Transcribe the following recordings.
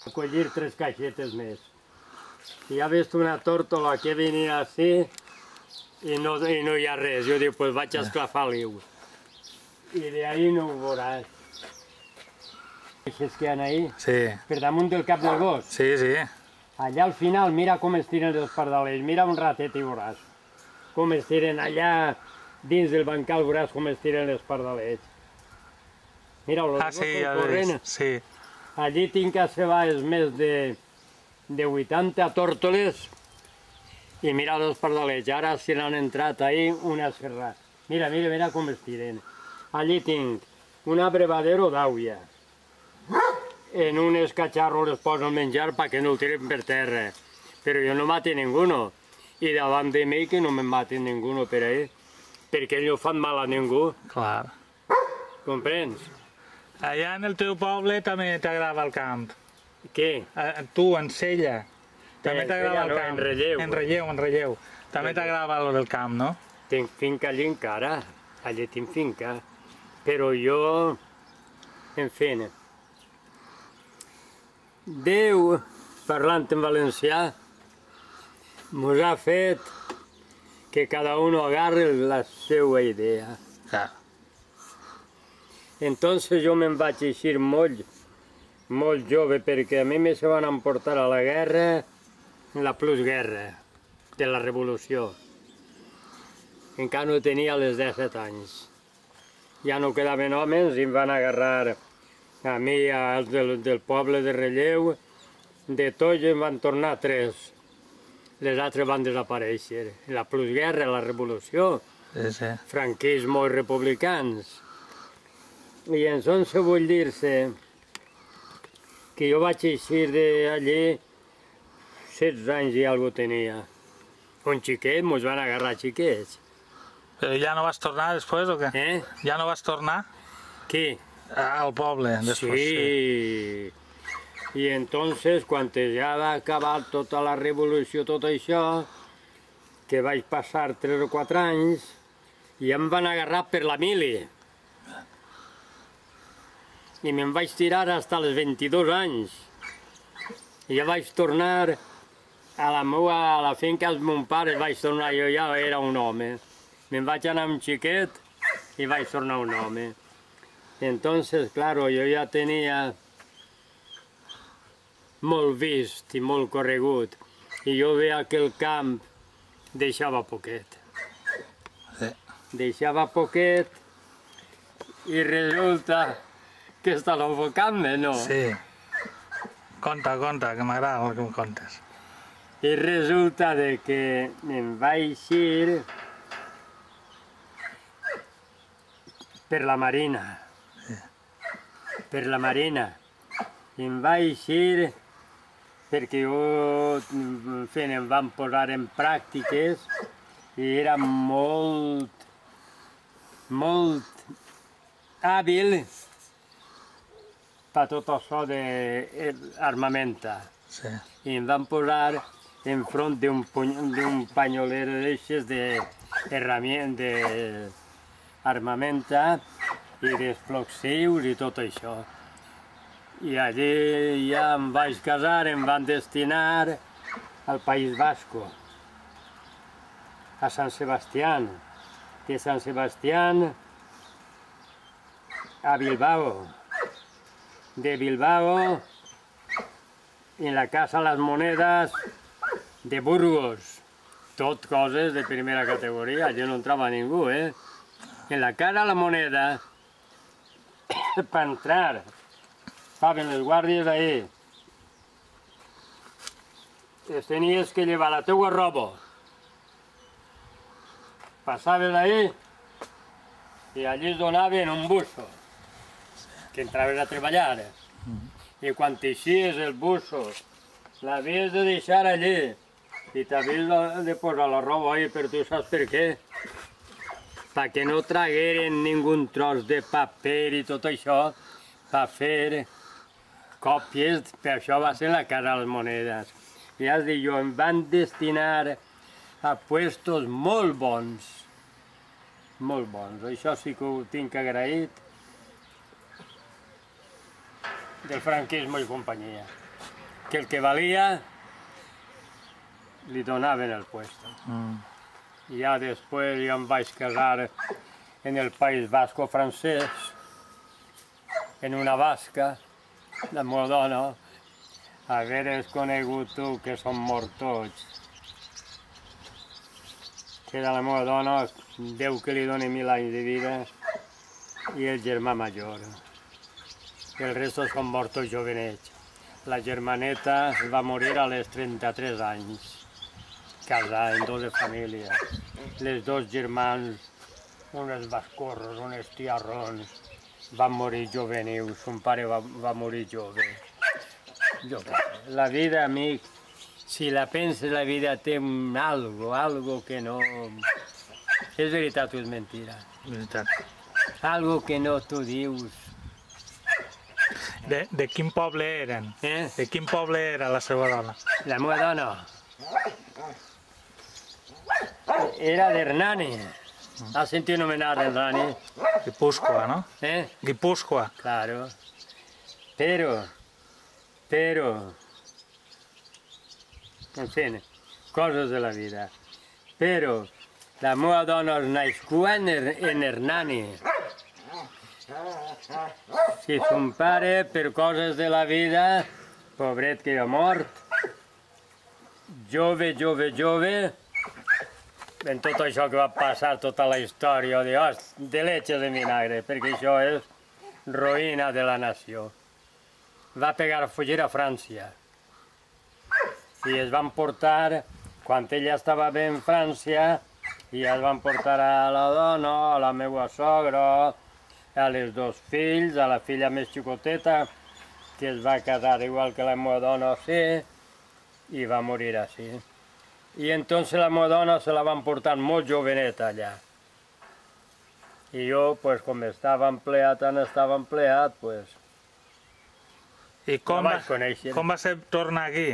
A collir 3 caixetes més. I ha vist una tórtola que venia així i no hi ha res. Jo dic, pues vaig a esclafar l'ou. I d'ahí no ho veuràs. Aquests que hi ha ahí, per damunt del cap del gos. Sí, sí. Allà al final, mira com es tiren els pardalets, mira un ratet i veuràs. Com es tiren allà dins del bancal, veuràs com es tiren els pardalets. Mira, els gossos corrent. Sí. Allí tinc a cebades més de 80 tórtoles i mira els pardalets. Ara se n'han entrat ahí una serra. Mira, mira, mira com es tiren. Allí tinc un abrevadero d'àuia. En un escacharro les poso el menjar perquè no el tiren per terra. Però jo no mati ninguno. I davant de mi que no me matin ninguno per ahí. Perquè no fan mal a ningú. Clar. Comprens? Allà en el teu poble també t'agrada el camp. Què? Tu, en Sella, també t'agrada el camp. En Relleu. En Relleu. També t'agrada el camp, no? Tinc finca allí encara. Allí tinc finca. Però jo, en fi, Déu, parlant en valencià, mos ha fet que cada un agarre la seva idea. Entonces jo me'n vaig eixir molt jove, perquè a mi me se van emportar a la guerra, la plusguerra de la revolució. Encara no tenia els 17 anys. Ja no quedaven homes i em van agarrar a mi, als del poble de Relleu, de tots em van tornar 3. Les altres van desaparèixer. La plusguerra, la revolució, franquisme i republicans. I entonces vull dir-se que jo vaig eixir d'allí 16 anys i alguna tenia. Un xiquet, mos van agarrar xiquets. Però ja no vas tornar després o què? Ja no vas tornar? Qui? Al poble, després. Sí. I entonces, quan ja va acabar tota la revolució, tot això, que vaig passar 3 o 4 anys, i em van agarrar per la mili. I me'n vaig tirar fins als 22 anys. I ja vaig tornar a la finca dels meus pares, vaig tornar, jo ja era un home. Me'n vaig anar amb xiquet i vaig tornar un home. Entonces, claro, jo ja tenia molt vist i molt corregut. I jo veia que el camp deixava poquet. Deixava poquet i resulta que està l'enfocant-me, no? Sí. Conta, que m'agrada el que em contes. I resulta que em vaig eixir per la Marina. Per la Marina. I em vaig eixir perquè jo, em van posar en pràctiques i era molt hàbil per tot això d'armamenta. I em van posar enfront d'un panyoler d'aixes d'armamenta i d'explosius i tot això. I allí ja em vaig casar, em van destinar al País Basco, a Sant Sebastián, de Sant Sebastián a Bilbao, de Bilbao en la Casa Las Monedas de Burgos, tot coses de primera categoria, allí no entrava ningú, En la Casa La Moneda, per entrar, estaven les guàrdies ahí. Es tenies que llevar la teua roba. Passaves ahí i allí es donaven un busso, que entraves a treballar. I quan t'eixies el busso, l'havies de deixar allí i t'havies de posar la roba ahí, però tu saps per què? Perquè no tragueren ningú tros de paper i tot això per fer còpies, per això va ser la Casa de les Monedes. I has dit jo, em van destinar a puestos molt bons, això sí que ho tinc agraït del franquisme i companyia. que el que valia li donaven el puesto. Ja després jo em vaig casar en el País Basco francès, en una basca, la meva dona. Haveres conegut tu, que som morts tots. Que era la meva dona, Déu que li doni 1000 anys de vida, i el germà major. El resto són morts jovenets. La germaneta va morir a les 33 anys, casada en 2 famílies. Les 2 germans, uns bascorros, uns tiarrons, van morir juvenils, son pare va morir jove. La vida, amic, si la penses, la vida té algo que no... És veritat o és mentira? Veritat. Algo que no tu dius. De quin poble eren? De quin poble era la seva dona? La meva dona era d'Hernani. Has sentit nomenar Hernani? Guipúzcoa, ¿no? Guipúzcoa. Claro. Pero, en fin, coses de la vida. Però la meva dona es nascut en Hernani. Si son pare, per coses de la vida, pobret que ha mort, jove, en tot això que va passar, tota la història, de leche de vinagre, perquè això és ruïna de la nació. Va pegar a fugir a França i es van portar, quan ella estava bé en França, i es van portar a la dona, a la meva sogra, a les 2 fills, a la filla més xicoteta, que es va casar igual que la meva dona, sí, i va morir així. I entonces la meva dona se la van portar molt joveneta allà. I jo, pues, com estava empleat, pues... I com va ser tornar aquí?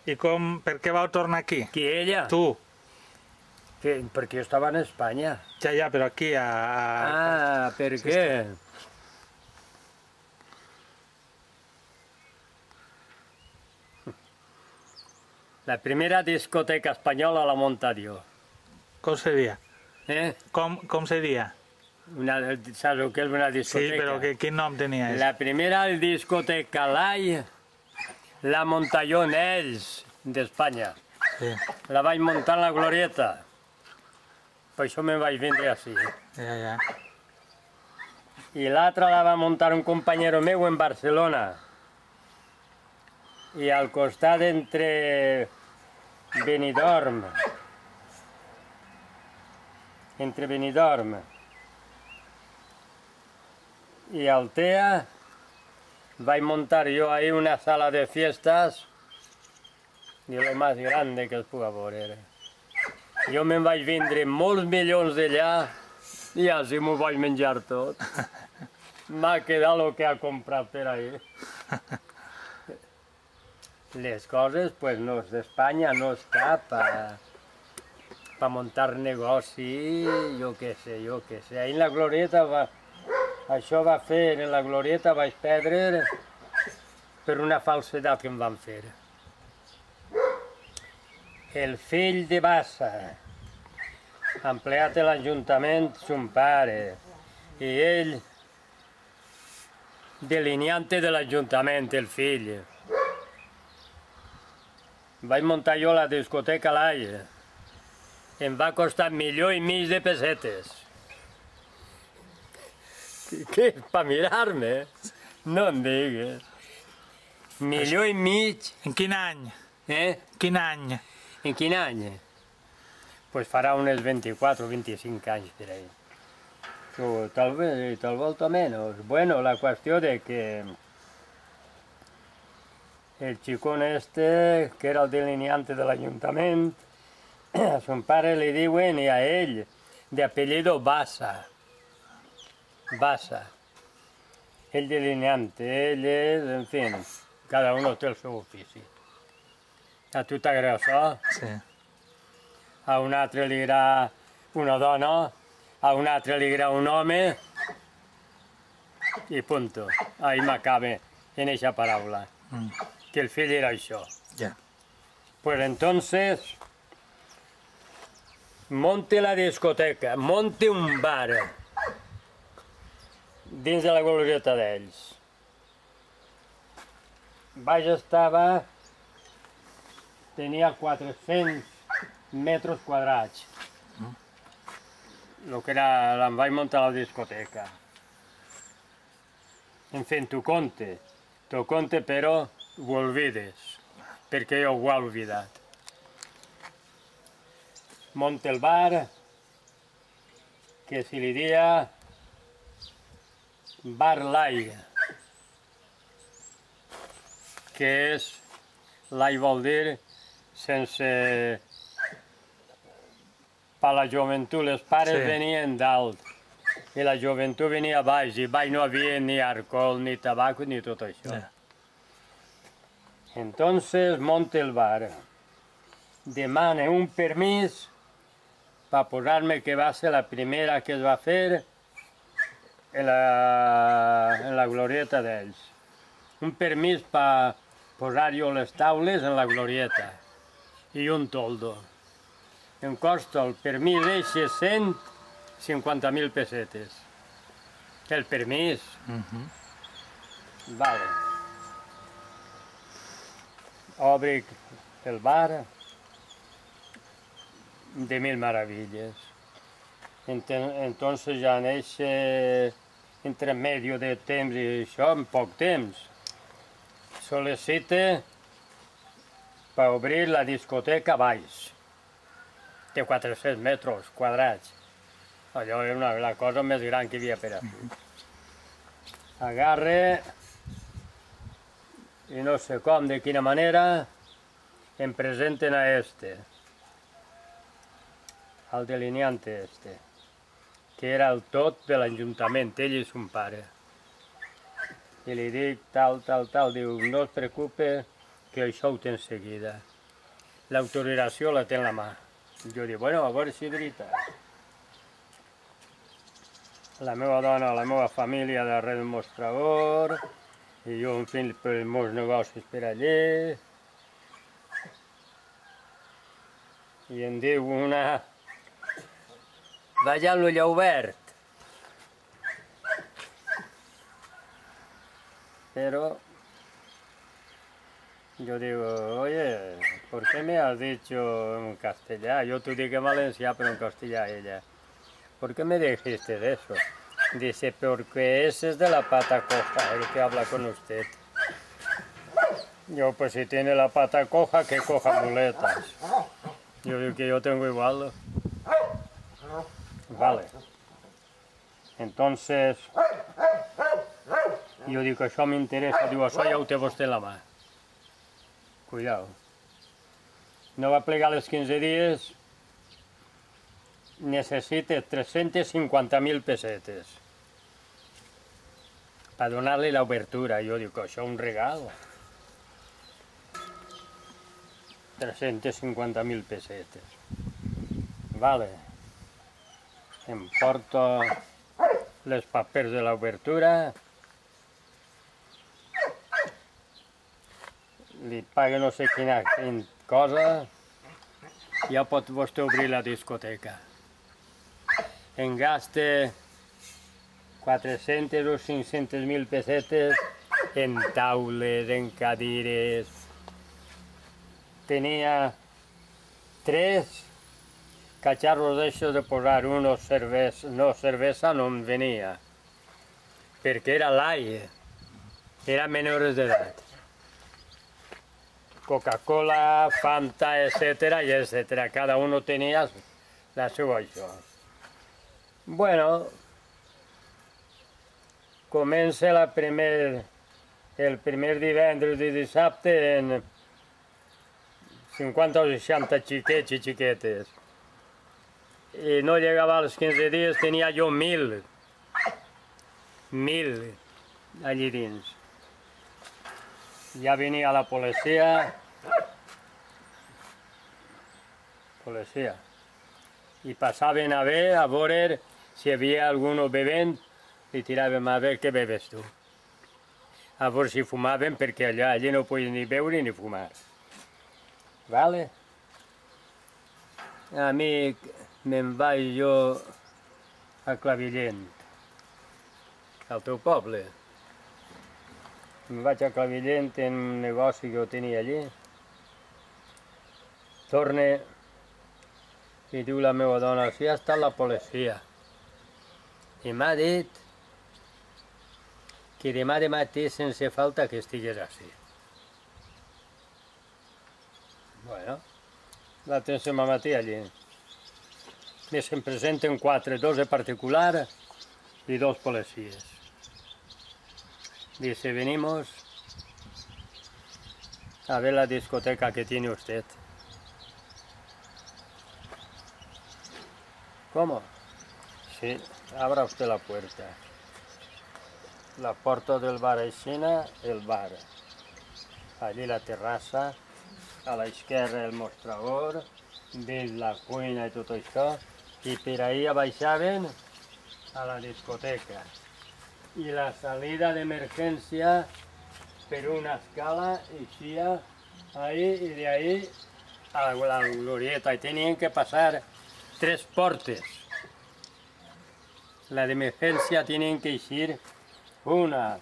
I per què vau tornar aquí? Qui, ella? Tu. Perquè jo estava en Espanya. Ja, però aquí a... Ah, per què? La primera discoteca espanyola la munta jo. Com seria? Com seria? Saps el que és una discoteca? Sí, però quin nom tenia? La primera discoteca Lai la munta jo en ells, d'Espanya. La vaig muntar en la Glorieta. Per això me'n vaig vindre així. I l'altra la va muntar un companyero meu en Barcelona. I al costat entre Benidorm i Altea, vaig muntar jo ahí una sala de fiestas de lo más grande que es puga veure. Jo me'n vaig vindre molts milions d'allà i així m'ho vaig menjar tot. M'ha quedat el que ha comprat per ahí. Les coses, pues, no és d'Espanya, no està per muntar negoci, jo què sé. Ahí en la Glorieta, això va fer, en la Glorieta vaig perdre per una falsedat que em van fer. El fill de Bassa, empleat de l'Ajuntament, son pare, i ell, delineante de l'Ajuntament, el fill. Vaig muntar jo la discoteca Lai. Em va costar 1,5 milions de pessetes. Què? Per mirar-me? No em digues. 1,5 milions. En quin any? Quin any? En quin any? Pues farà unes 24 o 25 anys per ahí. Tal volta menos. Bueno, la qüestió de que el xicón este, que era el delineante de l'Ajuntament, a son pare li diuen, i a ell, de apellido Bassa. Bassa. El delineante, ell és, en fi, cada un té el seu ofici. A tu t'agrada això? Sí. A un altre li agrada una dona, a un altre li agrada un home, i punto. Ahí m'acabe en eixa paraula. que el fill era això. Ja. Pues entonces monte la discoteca, monte un bar dins de la glorieta d'ells. Baix estava, tenia 400 metres quadrats. El que era, em vaig muntar la discoteca. En fi, t'ho conte, però ho olvides, perquè jo ho he oblidat. Monte el bar, que se li dia Bar Lai, que és, Lai vol dir sense... Per la joventut, els pares venien dalt i la joventut venia baix, i baix no havia ni alcohol, ni tabac, ni tot això. Entonces monte el bar, demana un permís per posar-me, que va ser la primera que es va fer en la glorieta d'ells. Un permís per posar jo les taules en la glorieta i un toldo. Em costa el permís eixe 150.000 pessetes. El permís. Vale. Obric el bar de mil maravilles. Entonces ja en eixe intermedio de temps i això, en poc temps, sol·licite per obrir la discoteca baix. Té 400 metres quadrats. Allò era la cosa més gran que hi havia per a fer. Agarre, i no sé com, de quina manera, em presenten a al delineante que era el tot de l'Ajuntament, ell i son pare. I li dic tal, diu, no es preocupe, que això ho té en seguida. L'autorització la té en la mà. Jo dic, bueno, a veure si és veritat. La meva dona, la meva família darrere del mostrador, i jo em fent els meus negocis per allà. I em diu una... Vaig amb l'ull obert. Pero yo digo, oye, ¿por qué me has dicho en castellano? Yo te dije en valenciano, pero en castellano ella. ¿Por qué me dijiste de eso? Dice, porque ese es de la pata coja, el que habla con usted. Yo, pues si tiene la pata coja, que coja muletas. Yo digo que yo tengo igual. Vale. Entonces, jo dic, això m'interessa, diu, això ja ho té vostè en la mà. Cuidao. No va plegar els 15 dies, necessita 350.000 pessetes per donar-li l'obertura. Jo dic, això és un regal. 350.000 pessetes. Vale. Em porto les papers de l'obertura, li paga no sé quina cosa, ja pot vostè obrir la discoteca. En gasta 400 o 500.000 pessetes en taules, en cadires. Tenia 3 cacharros d'això de posar uno cervesa, no, cervesa no em venia, perquè era l'aire, era menores d'edat. Coca-Cola, Fanta, etcétera, y etcétera, cada uno tenía la seva això. Bueno, comença el primer divendres i dissabte en 50 o 60 xiquets i xiquetes. I no llegava als 15 dies, tenia jo 1.000 allí dins. Ja venia la policia, i passaven a veure si hi havia algú bevent, i tiràvem a veure què bebes tu. a veure si fumaven, perquè allà no podien ni beure ni fumar. Vale? A mi me'n vaig jo a Clavillent, al teu poble. Me'n vaig a Clavillent en un negoci que ho tenia allí. Torne i diu la meva dona, si ha estat la policia. I m'ha dit que demà de matí sense falta que estigués així. Bueno, l'altre matí allí. I se'n presenten 4, 2 de particular y 2 policías. Dice, venimos a ver la discoteca que tiene usted. ¿Cómo? Sí, abra usted la puerta. La puerta del bar Aixina, el bar. Allí la terrassa, a la esquerra el mostrador, veig la cuina i tot això, i per ahí baixaven a la discoteca. I la salida d'emergència per una escala eixia ahí i de ahí a la glorieta. I tenien que passar 3 portes. La d'emergència tenien que eixir una,